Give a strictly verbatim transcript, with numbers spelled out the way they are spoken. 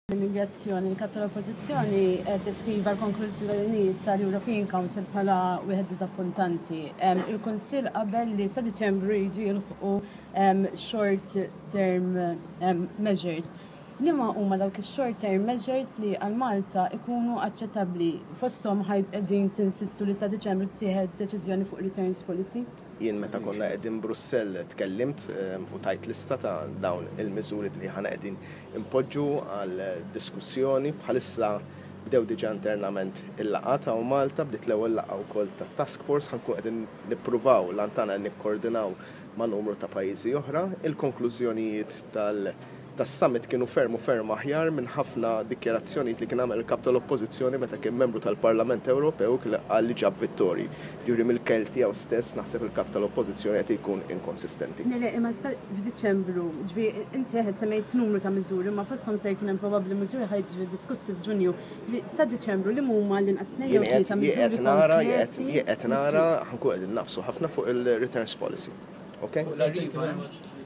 L-immigrazzjoni, il-kap tal-Oppożizzjoni deskriva l-konklużjonijiet tal-European Council bħala wieħed diżappuntanti. Il-Kunsill qabel li sa Diċembru jiġu jilħqu short term measures. Liema huma dawk il-short term measures li għal Malta ikunu aċċettabbli, fosthom qegħdin tinsistu li sa Diċembru tieħed deċiżjoni fuq returns policy? Jien meta konna qegħdin Brussell tkellimt u tajt lista ta' dawn il-miżuri li aħna qegħdin impoġġu għal diskussjoni. Bħalissa bdew diġà internament il-laqgħa ta' Malta, bdiet l-ewwel laqgħa wkoll ta' task force, ħa nkun qegħdin nippruvaw lantana nikkoordinaw ma' numru ta' pajjiżi oħra. Il-konklużjonijiet tal- tas-summit kienu ferm u ferm aħjar minn ħafna dikjarazzjonijiet li kien għamel il-kap tal-Oppożizzjoni meta kien membru tal-Parlament Ewropew, kien qal li ġab vittori. Ġifieri mill-kelma tiegħu stess naħseb il-kap tal-Oppożizzjoni qed ikun inkonsistenti. Mela, imma f'Diċembru, ġifieri inti semmejt numru ta' miżuri, ma fosthom se jkun hemm probabbli miżuri ħa jiġu diskussi f'Ġunju. Sa Diċembru li huma l-inqas tnejn jew tlieta miżuri? Nara, qed nara, ħa nkun qegħdin nagħfsu ħafna fuq il-returns policy. Okay? Fuq l-Arriva.